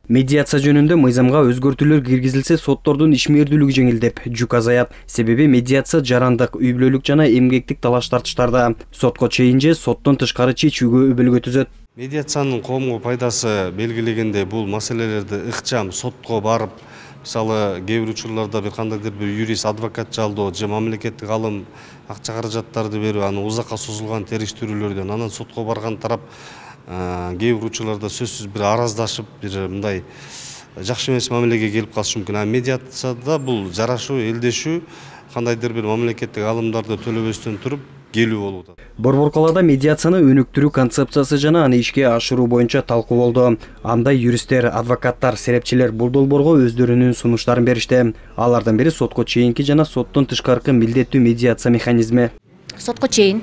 Медиация жөнүндө мыйзамга өзгөртүүлөр киргизилсе, соттордун ишмердүүлүгү жеңилдеп, жүк азаят. Себеби медиация жарандык, үй бүлөлүк жана эмгектик талаш-тартыштарда сотко чейин же соттон тышкары чечүүгө өбөлгө түзөт. Медиациянын коомго пайдасы белгилегенде бул маселелерди ыкчам сотко барып, мисалы кээ бир учурларда бир кандайдыр бир юрист, адвокат жалдоо же мамлекеттик алым акча каражаттарды берип, аны узакка созулган териштирүүлөрдөн анан сотко барган тарап кээ бир учурларда сөзсүз бир араздашып, бир мындай жакшы эмес мамилеге келип калышы мүмкүн. А медиацияда бул жарашуу, элдешүү, кандайдыр бир мамлекеттик алымдарды төлөбөстөн туруп келүү болуп атат. Борбор калаада медиацияны өнүктүрүү концепциясы жана аны ишке ашыруу боюнча талкуу болду. Анда юристтер, адвокаттар, серепчилер бул долбоорго өздөрүнүн сунуштарын беришти. Алардын бири сотко чейинки жана соттон тышкаркы милдеттүү медиация механизми. Сотко чейин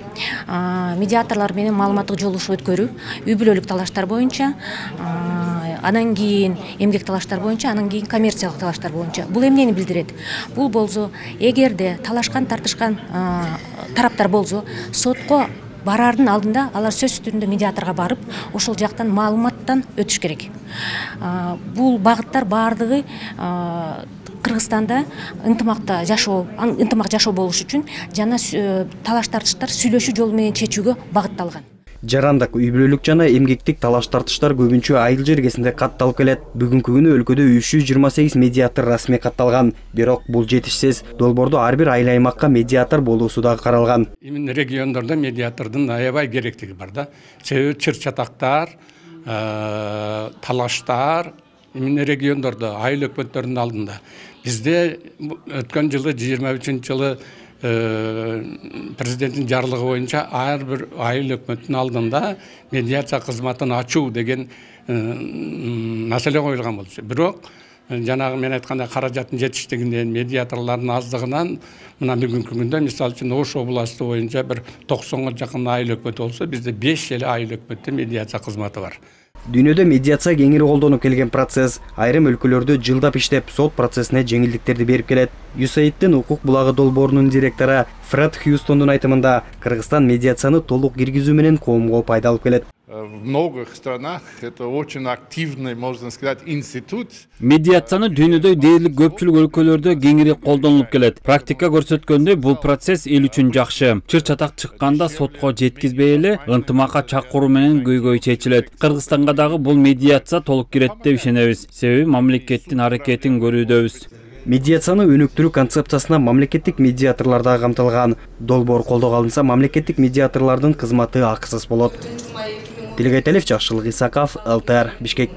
медиаторлор менен маалыматтык жолугушуу өткөрүү, үй бүлөлүк талаштар боюнча, анан кийин эмгек талаштар боюнча, анан кийин коммерциялык талаштар боюнча. Бул эмнени билдирет? Бул болсо, эгерде талашкан, тартышкан тараптар болсо, сотко бараардын алдында алар сөз түрүндө медиаторго барып, ошол жактан маалыматтан өтүш керек. Бул багыттар баардыгы Кыргызстанда ынтымак жашоо болуш үчүн жана талаш-тартыштар сүйлөшүү жолу менен чечүүгө багытталган. Жарандык, үй бүлөлүк жана эмгектик талаш-тартыштар көбүнчө айыл жергесинде катталып келет. Бүгүнкү күнү өлкөдө 328 медиатор расмий катталган. Бирок бул жетишсиз. Долбоордо ар бир айыл аймакка медиатор болуусу да каралган. Именно региондордо медиатордун аябай керектиги бар да. Себеби чыр-чатактар, талаштар именно региондордо, айыл өкмөттөрдүн алдында. Бизде өткөн жылы 23-жылы президенттин жарлыгы боюнча ар бир айыл өкмөттүн алдында медиация кызматын ачуу деген маселе коюлган болчу. Бирок жанагы мен айткандай каражаттын жетиштигинен, медиаторлордун аздыгынан мына бүгүнкү күндө мисалы үчүн Ош областы боюнча бир 90га жакын айыл өкмөтү болсо, бизде 5 эле айыл өкмөттө медиация кызматы бар. Дүйнөдө медиация кеңири колдонуп келген процесс. Айрым өлкөлөрдө жылдап иштеп, сот процессине жеңилдиктерди берип келет. USAID-тин укук булагы долбоорунун директору Фред Хьюстондун айтымында, Кыргызстан медиацияны толук киргизүү менен коомго пайда алып келет. В многих странах это очень активный, можно сказать, институт. Медиацияны дүйнөдө дээрлик көпчүлүк өлкөлөрдө кеңири колдонулуп келет. Практика көрсөткөндөй, бул процесс эл үчүн жакшы. Чыр-чатак чыкканда сотко жеткизбей эле ынтымакка чакыруу менен көйгөй чечилет. Кыргызстанга дагы бул медиация толук кирет деп ишенебиз. Себеби мамлекеттин аракетин көрүүдөбүз. Медиацияны өнүктүрүү концепциясына мамлекеттик медиаторлор да камтылган. Долбоор колдоого алынса, мамлекеттик медиаторлордун кызматы акысыз болот. Тилегай Талев, Жакшылык Исаков, ЛТР, Бишкек.